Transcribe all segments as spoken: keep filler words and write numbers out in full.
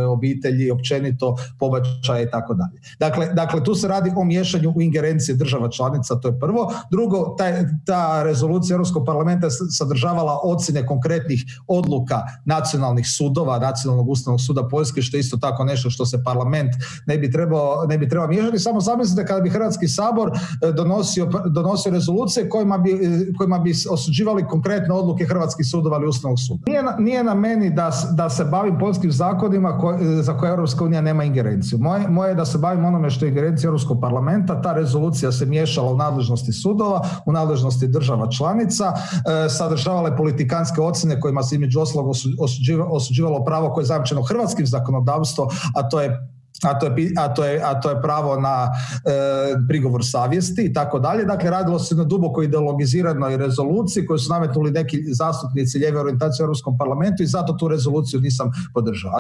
obitelji, općenito pobačaje i tako dalje. Dakle, dakle, tu se radi o miješanju u ingerencije država članica, to je prvo. Drugo, taj, ta rezolucija Europskog parlamenta sadržavala ocjene konkretnih odluka nacionalnih sudova, Nacionalnog ustavnog suda Poljske, što je isto tako nešto što se parlament ne bi trebao, ne bi trebao miješati. Samo zamislite kada bi Hrvatski sabor donosio, donosio rezolucije kojima bi, kojima bi osuđivali konkretne odluke hrvatskih sudova ili Ustavnog suda. Nije na, nije na meni da, da se bavim poljskim zakonima ko, za koje Europska unija nema ingerenciju. Moje, moje je da se bavim onome što je ingerencija Europskog parlamenta. Ta rezolucija se miješala u nadležnosti sudova, u nadležnosti država članica, e, sadržavale politikanske ocjene kojima se između ostalog osuđivalo, osuđivalo pravo koje je zajamčeno hrvatskim zakonodavstvom, a to je A to, je, a, to je, a to je pravo na e, prigovor savjesti i tako dalje. Dakle, radilo se na duboko ideologiziranoj rezoluciji koju su nametnuli neki zastupnici lijeve orijentacije u Europskom parlamentu i zato tu rezoluciju nisam podržao.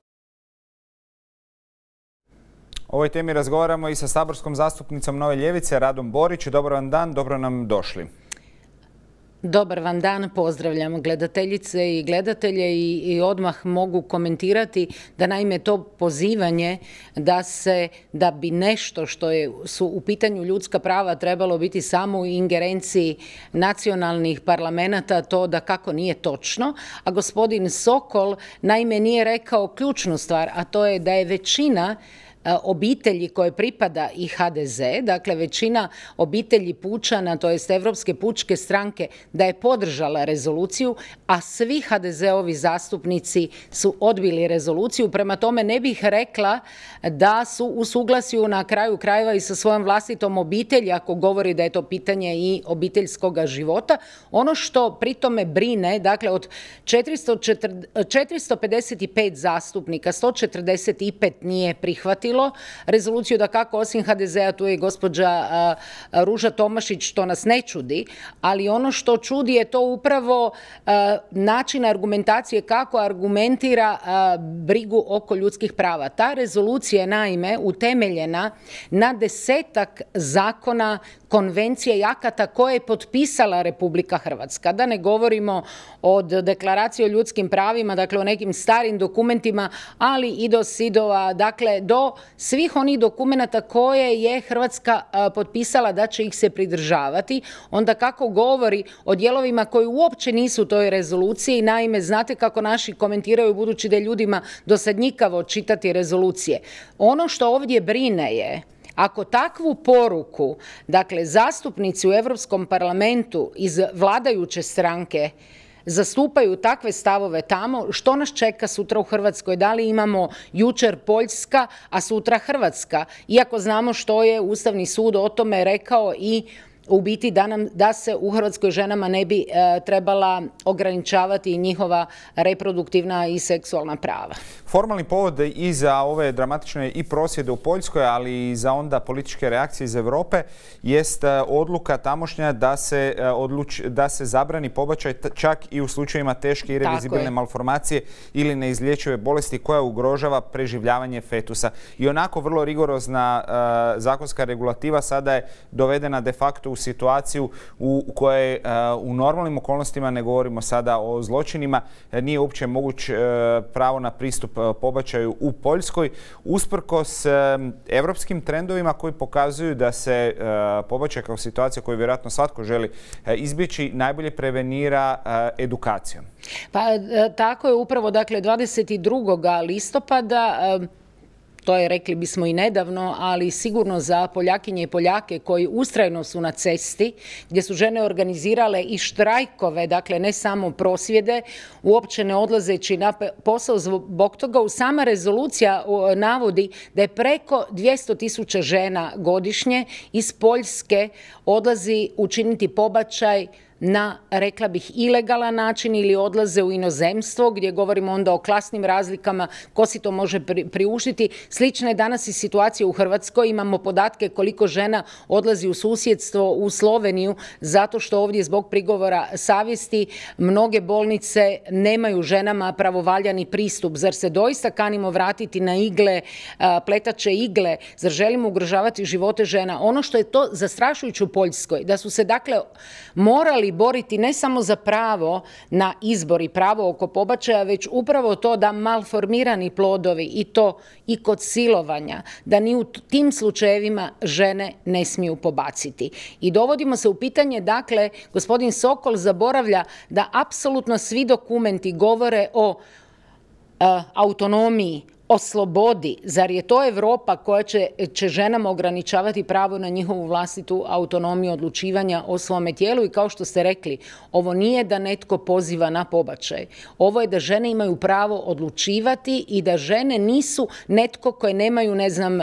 O ovoj temi razgovaramo i sa saborskom zastupnicom Nove ljevice, Radom Borić. Dobar vam dan, dobro nam došli. Dobar vam dan, pozdravljam gledateljice i gledatelje i, i odmah mogu komentirati da naime to pozivanje da se, da bi nešto što je, su u pitanju ljudska prava trebalo biti samo u ingerenciji nacionalnih parlamenta, to da kako nije točno, a gospodin Sokol naime nije rekao ključnu stvar, a to je da je većina obitelji koje pripada i ha de ze, dakle većina obitelji pučana, to jest Evropske pučke stranke, da je podržala rezoluciju, a svi ha de ze-ovi zastupnici su odbili rezoluciju. Prema tome ne bih rekla da su u suglasju na kraju krajeva i sa svojom vlastitom obitelji, ako govori da je to pitanje i obiteljskog života. Ono što pri tome brine, dakle od četiristo pedeset pet zastupnika, sto četrdeset pet nije prihvatilo rezoluciju, da kako osim ha de ze-a tu je gospođa Ruža Tomašić, što nas ne čudi, ali ono što čudi je to upravo način argumentacije, kako argumentira brigu oko ljudskih prava. Ta rezolucija je naime utemeljena na desetak zakona, konvencije i akata koje je potpisala Republika Hrvatska. Da ne govorimo od deklaracije o ljudskim pravima, dakle o nekim starim dokumentima, ali i do sidova, dakle do svih onih dokumenata koje je Hrvatska potpisala da će ih se pridržavati. Onda kako govori o dijelovima koji uopće nisu u toj rezoluciji, naime znate kako naši komentiraju, budući da je ljudima dosadnjikavo čitati rezolucije. Ono što ovdje brine je, ako takvu poruku, dakle zastupnici u Europskom parlamentu iz vladajuće stranke zastupaju takve stavove tamo, što nas čeka sutra u Hrvatskoj? Da li imamo jučer Poljska, a sutra Hrvatska? Iako znamo što je Ustavni sud o tome rekao i u biti da, nam, da se u Hrvatskoj ženama ne bi e, trebala ograničavati njihova reproduktivna i seksualna prava. Formalni povod i za ove dramatične i prosvjede u Poljskoj, ali i za onda političke reakcije iz Europe jest odluka tamošnja da se, odluč, da se zabrani pobačaj čak i u slučajevima teške irreverzibilne malformacije ili neizlječive bolesti koja ugrožava preživljavanje fetusa. I onako vrlo rigorozna uh, zakonska regulativa sada je dovedena de facto u situaciju u kojoj u normalnim okolnostima, ne govorimo sada o zločinima, nije uopće moguć pravo na pristup pobačaju u Poljskoj, usprkos evropskim trendovima koji pokazuju da se pobačaj kao situacija koju vjerojatno svatko želi izbjeći najbolje prevenira edukacijom. Pa tako je upravo, dakle dvadeset drugog listopada, to je, rekli bismo i nedavno, ali sigurno za Poljakinje i Poljake koji ustrajno su na cesti, gdje su žene organizirale i štrajkove, dakle ne samo prosvjede, uopće ne odlazeći na posao zbog toga. U sama rezolucija navodi da je preko dvjesto tisuća žena godišnje iz Poljske odlazi učiniti pobačaj na, rekla bih, ilegalan način ili odlaze u inozemstvo, gdje govorimo onda o klasnim razlikama, ko si to može priuštiti. Slična je danas i situacija u Hrvatskoj. Imamo podatke koliko žena odlazi u susjedstvo, u Sloveniju, zato što ovdje zbog prigovora savjesti mnoge bolnice nemaju ženama pravovaljani pristup. Zar se doista kanimo vratiti na igle, pletače igle? Zar želimo ugrožavati živote žena? Ono što je to zastrašujuće u Poljskoj, da su se dakle morali trebali boriti ne samo za pravo na izbor i pravo oko pobačaja, već upravo to da malformirani plodovi i to i kod silovanja, da ni u tim slučajevima žene ne smiju pobaciti. I dovodimo se u pitanje, dakle, gospodin Sokol zaboravlja da apsolutno svi dokumenti govore o a, autonomiji, o slobodi. Zar je to Europa koja će, će ženama ograničavati pravo na njihovu vlastitu autonomiju odlučivanja o svome tijelu? I kao što ste rekli, ovo nije da netko poziva na pobačaj. Ovo je da žene imaju pravo odlučivati i da žene nisu netko koje nemaju, ne znam,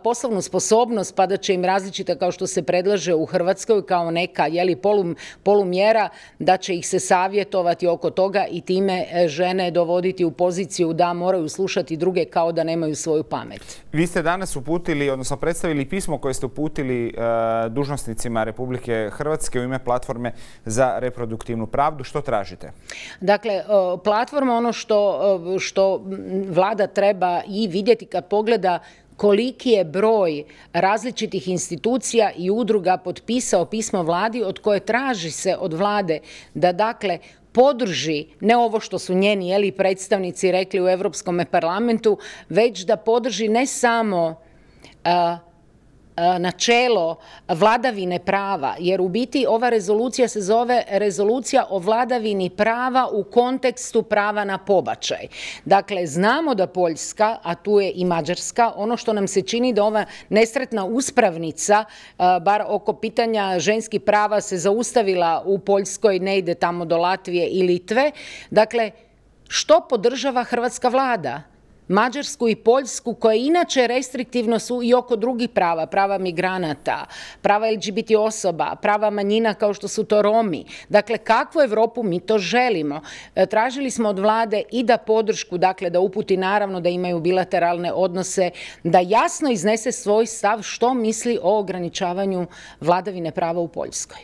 poslovnu sposobnost pa da će im različita, kao što se predlaže u Hrvatskoj, kao neka jeli, polum, polumjera, da će ih se savjetovati oko toga i time žene dovoditi u poziciju da moraju slušati druge kao da nemaju svoju pamet. Vi ste danas uputili, odnosno predstavili pismo koje ste uputili e, dužnosnicima Republike Hrvatske u ime Platforme za reproduktivnu pravdu. Što tražite? Dakle, platforma, ono što, što vlada treba i vidjeti kad pogleda koliki je broj različitih institucija i udruga potpisao pismo vladi od koje traži se od vlade da, dakle, podrži, ne ovo što su njeni jeli, predstavnici rekli u Europskom parlamentu, već da podrži ne samo a, a, načelo vladavine prava, jer u biti ova rezolucija se zove rezolucija o vladavini prava u kontekstu prava na pobačaj. Dakle, znamo da Poljska, a tu je i Mađarska, ono što nam se čini da ova nesretna uspravnica, a, bar oko pitanja ženskih prava, se zaustavila u Poljskoj, ne ide tamo do Latvije i Litve. Dakle, što podržava hrvatska vlada? Mađarsku i Poljsku, koje inače restriktivno su i oko drugih prava, prava migranata, prava L G B T osoba, prava manjina kao što su to Romi. Dakle, kakvu Europu mi to želimo? Tražili smo od vlade i da podršku, dakle da uputi naravno da imaju bilateralne odnose, da jasno iznese svoj stav što misli o ograničavanju vladavine prava u Poljskoj.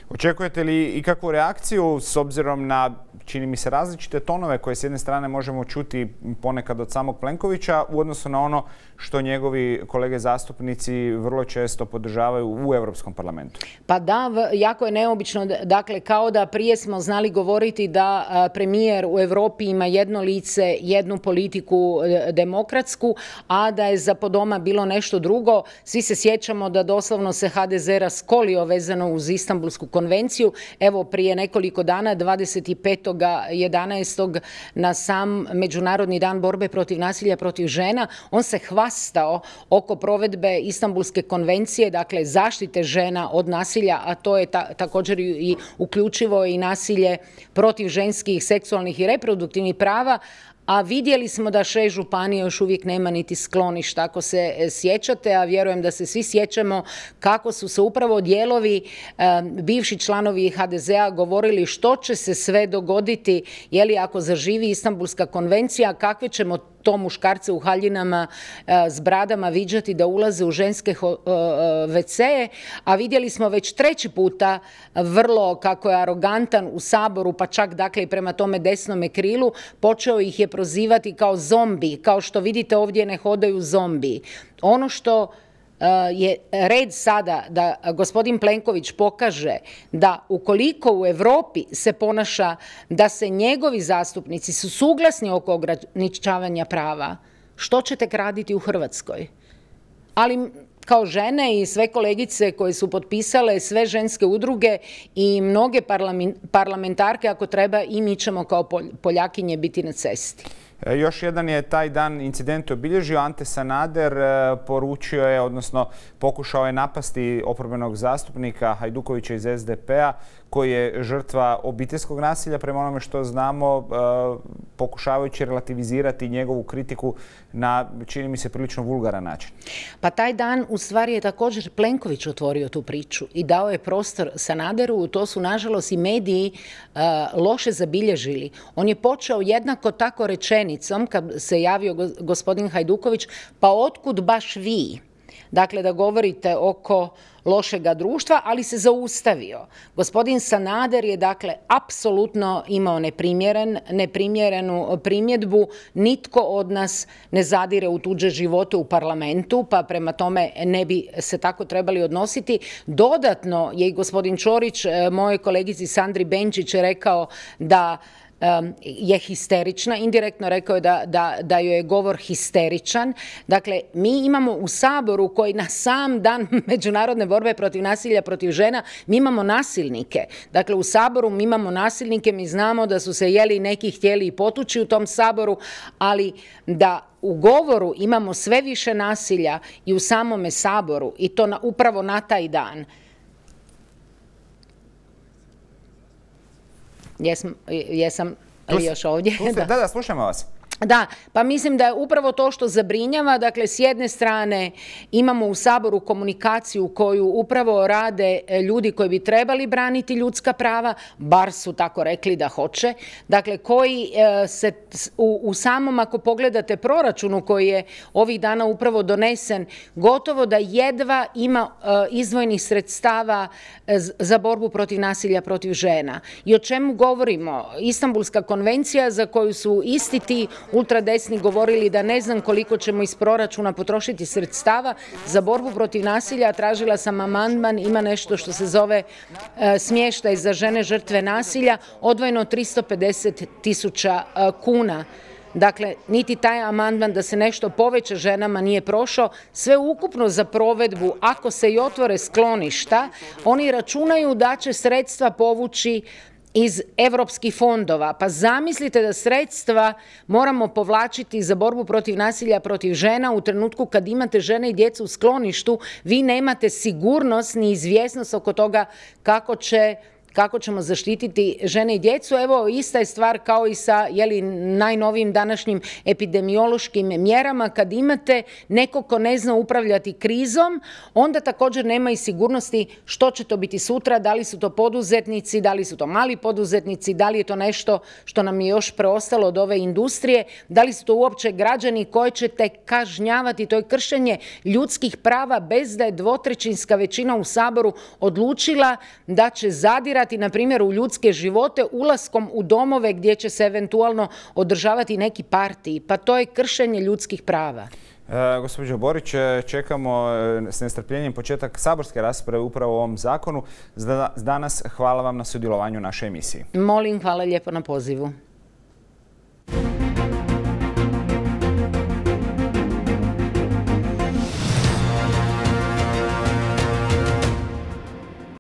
Očekujete li i kakvu reakciju s obzirom na, čini mi se, različite tonove koje s jedne strane možemo čuti ponekad od samog Plenkovića u odnosu na ono što njegovi kolege zastupnici vrlo često podržavaju u Europskom parlamentu? Pa da, jako je neobično. Dakle, kao da prije smo znali govoriti da premijer u Europi ima jedno lice, jednu politiku demokratsku, a da je za podoma bilo nešto drugo. Svi se sjećamo da doslovno se H D Z raskolio vezano uz Istanbulsku konvenciju. Evo, prije nekoliko dana, dvadeset petog jedanaestog na sam Međunarodni dan borbe protiv nasilja protiv žena, on se hvastao oko provedbe Istanbulske konvencije, dakle zaštite žena od nasilja, a to je ta, također i uključivo i nasilje protiv ženskih seksualnih i reproduktivnih prava. A vidjeli smo da šest županija još uvijek nema niti skloništa, ako se sjećate, a vjerujem da se svi sjećamo kako su se upravo dijelovi e, bivši članovi H D Z-a govorili što će se sve dogoditi, je li ako zaživi Istanbulska konvencija, kakve ćemo to muškarce u haljinama e, s bradama viđati da ulaze u ženske ve ce, a vidjeli smo već treći puta vrlo kako je arogantan u Saboru, pa čak dakle i prema tome desnome krilu, počeo ih je prozivati kao zombi, kao što vidite ovdje ne hodaju zombi. Ono što je red sada da gospodin Plenković pokaže da ukoliko u Europi se ponaša da se njegovi zastupnici su suglasni oko ograničavanja prava, što će tek raditi u Hrvatskoj? Ali kao žene i sve kolegice koje su potpisale, sve ženske udruge i mnoge parlamentarke, ako treba, i mi ćemo kao Poljakinje biti na cesti. Još jedan je taj dan incident obilježio. Ante Sanader poručio je, odnosno pokušao je napasti oporbenog zastupnika Hajdukovića iz S D P-a koji je žrtva obiteljskog nasilja, prema onome što znamo, pokušavajući relativizirati njegovu kritiku na, čini mi se, prilično vulgaran način. Pa taj dan u stvari je također Plenković otvorio tu priču i dao je prostor Sanaderu. To su nažalost i mediji uh, loše zabilježili. On je počeo jednako tako rečenicom kad se javio gospodin Hajduković, pa otkud baš vi? dakle da govorite oko lošega društva, ali se zaustavio. Gospodin Sanader je dakle apsolutno imao neprimjeren, neprimjerenu primjedbu. Nitko od nas ne zadire u tuđe živote u parlamentu, pa prema tome ne bi se tako trebali odnositi. Dodatno je i gospodin Ćorić, mojoj kolegici Sandri Benčić, rekao da je histerična, indirektno rekao je da, da, da joj je govor histeričan. Dakle, mi imamo u Saboru koji na sam dan međunarodne borbe protiv nasilja protiv žena, mi imamo nasilnike. Dakle, u Saboru mi imamo nasilnike, mi znamo da su se jeli neki htjeli i potući u tom Saboru, ali da u govoru imamo sve više nasilja i u samome Saboru, i to na, upravo na taj dan. Jesam, jesam li još ovdje? Da, da, slušamo vas. Da, pa mislim da je upravo to što zabrinjava. Dakle, s jedne strane imamo u Saboru komunikaciju koju upravo rade ljudi koji bi trebali braniti ljudska prava, bar su tako rekli da hoće. Dakle, koji se u, u samom, ako pogledate proračunu koji je ovih dana upravo donesen, gotovo da jedva ima izdvojenih sredstava za borbu protiv nasilja protiv žena. I o čemu govorimo? Istanbulska konvencija, za koju su isti ti ultradesni govorili da ne znam koliko ćemo iz proračuna potrošiti sredstava za borbu protiv nasilja. Tražila sam amandman, ima nešto što se zove e, smještaj za žene žrtve nasilja, odvojeno tristo pedeset tisuća kuna. Dakle, niti taj amandman da se nešto poveća ženama nije prošao. Sve ukupno za provedbu, ako se i otvore skloništa, oni računaju da će sredstva povući iz evropskih fondova. Pa zamislite da sredstva moramo povlačiti za borbu protiv nasilja protiv žena u trenutku kad imate žene i djecu u skloništu, vi nemate sigurnost ni izvjesnost oko toga kako će kako ćemo zaštititi žene i djecu. Evo, ista je stvar kao i sa jeli, najnovijim današnjim epidemiološkim mjerama. Kad imate neko ko ne zna upravljati krizom, onda također nema i sigurnosti što će to biti sutra, da li su to poduzetnici, da li su to mali poduzetnici, da li je to nešto što nam je još preostalo od ove industrije, da li su to uopće građani koje ćete kažnjavati. To je kršenje ljudskih prava bez da je dvotrećinska većina u Saboru odlučila da će zadirati na primjer u ljudske živote ulaskom u domove gdje će se eventualno održavati neki partiji. Pa to je kršenje ljudskih prava. E, gospođo Borić, čekamo s nestrpljenjem početak saborske rasprave upravo o ovom zakonu. Za danas hvala vam na sudjelovanju u našoj emisiji. Molim, hvala lijepo na pozivu.